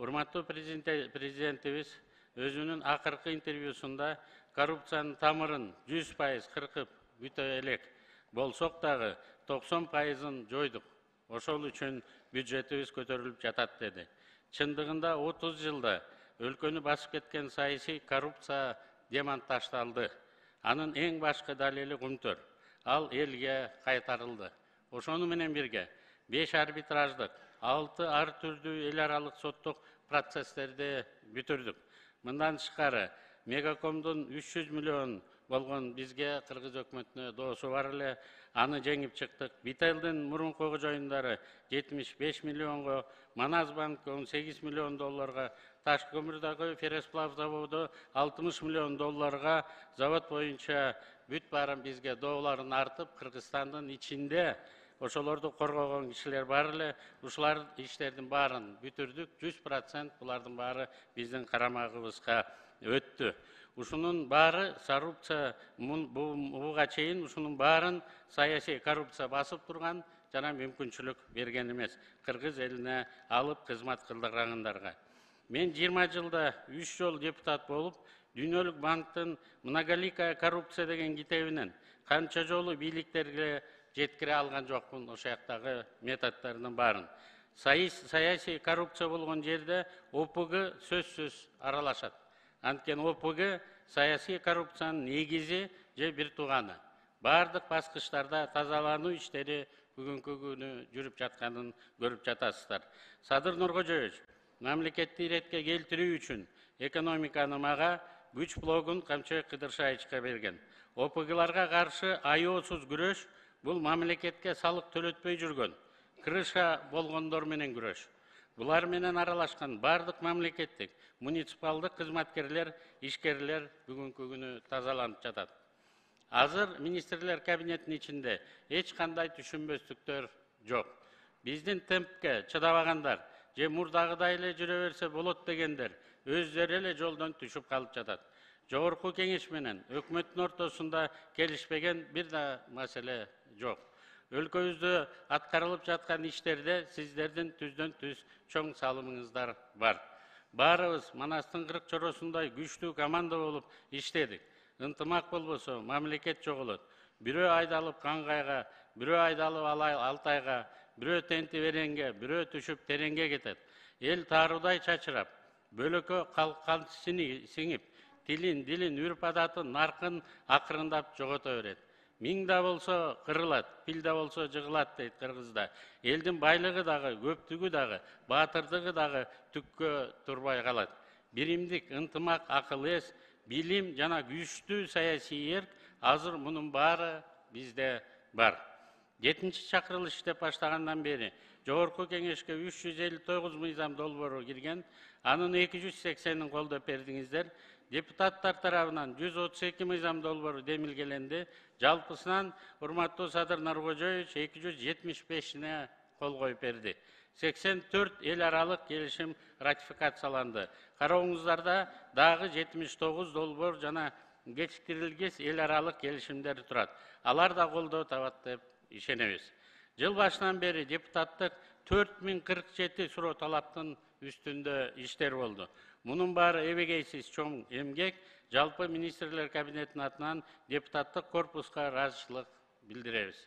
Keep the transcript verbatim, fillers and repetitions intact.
Урматтуу президентибиз өзүнүн акыркы интервьюсунда коррупциянын тамырын жүз пайыз кыркып бүтө элек болсок дагы токсон пайызын жойдук. Ошол үчүн бюджетибиз көтөрүлүп жатат деди. Чындыгында отуз жылда өлкөнү басып кеткен саясий коррупция демонтаждалды. Анын эң башкы далили Кумтөр. Ал элге кайтарылды. Ошону менен бирге беш арбитраждык, алты ар түрдүү эл аралык соттук процесстерди бүтүрдүк. Мындан тышкары Мегакомдун үч жүз миллион болгон бизге Кыргыз өкмөтүнө доосу бар эле, аны жеңип чыктык. Бителдин мурунку кожоюндары жетимиш беш миллионго, Маназбанк он сегиз миллион долларга, Таш көмүрдөгү Фересплав заводу алтымыш миллион долларга, завод боюнча бүт баарын бизге дооларын артып, Кыргызстандын ичинде ошолорду коргогон кишилер бар эле. Ушулар иштердин баарын бүтүрдүк. жүз процент булардын баары биздин карамагыбызга өттү. Ушунун баары коррупция, буга чейин ушунун баарын саясий коррупция басып турган жана мүмкүнчүлүк берген эмес. Кыргыз элине алып кызмат кылдыргандарга. Мен жыйырма жылда үч жол депутат болуп, Дүйнөлүк банктын «Многоликая коррупция» деген китебинен канча жолу бийликтерге жеткире алган жокмун ошол жактагы методдордун баарын. Саясий коррупция болгон жерде О П Г сөзсүз аралашат. Анткени О П Г саясий коррупциянын негизи же бир тууганы. Бардык баскычтарда тазалануу иштери бүгүнкү күнү жүрүп жатканын көрүп жатасыздар. Садыр Нуркожоевич, мамлекетти иретке келтирүү үчүн экономиканы мага, күч блогун Камчыбек Кыдыршаевичке берген. О П Гларга каршы аеосуз күрөш бул мамлекетке салык төлөтпөй жүргөн, крыша болгондор менен күрөш. Булар менен аралашкан бардык мамлекеттик, муниципалдык кызматкерлер, ишкерлер бүгүнкү күнү тазаланып жатат. Азыр министрлер кабинетинин ичинде эч кандай түшүнбөстүктөр жок. Биздин темпке чыдабагандар же мурдагыдай эле жүрө берсе болот дегендер өздөрү эле жолдон түшүп калып жатат. Жогорку кеңеш менен өкмөттүн ортосунда келишпеген бир да маселе жок. Өлкөбүздө аткарылып жаткан иштерде сиздердин түздөн түз чоң салымыңыздар бар. Баарыбыз Манастын кырк чоросундай күчтүү команда болуп иштедик. Ынтымак болбосо мамлекет жоголот. Бирөө айдалып Кангайга, бирөө айдалып Алтайга, бирөө тенти Веренге, бирөө түшүп Тереңге кетет. Эл тааруудай чачырап, бөлөкө калкан сиңип, тилин, дилин, үрп адатын, наркын акырындап жогото берет. Миң да болсо кырылат, пил да болсо жыгылат дейт кыргызда. Элдин байлыгы дагы, көптүгү дагы, баатырдыгы дагы түккө турбай калат. Биримдик, ынтымак, акыл эс, билим жана күчтүү саясий эрк азыр мунун баары бизде бар. жетинчи чакырылыш иштеп баштагандан бери Жогорку кеңешке үч жүз элүү тогуз мыйзам долбоору кирген, анын эки жүз сексенин колдоп бердиңиздер. Депутаттар тарабынан жүз отуз эки мыйзам долбоору демилгеленди. Жалпысынан урматтуу Садыр Нуркожоевич эки жүз жетимиш бешине кол коюп берди. сексен төрт эл аралык келишим ратификацияланды. Карооңуздарда дагы жетимиш тогуз долбоор жана кечиктирилгес эл аралык келишимдер турат. Алар да колдоо табат деп ишенебиз. Жыл башынан бери депутаттык төрт миң кырк жети суроо талаптын үстүндө иштер болду. Мунун баары эбегейсиз чоң эмгек. Жалпы министрлер кабинетинин атынан депутаттык корпуска ыраазычылык билдиребиз.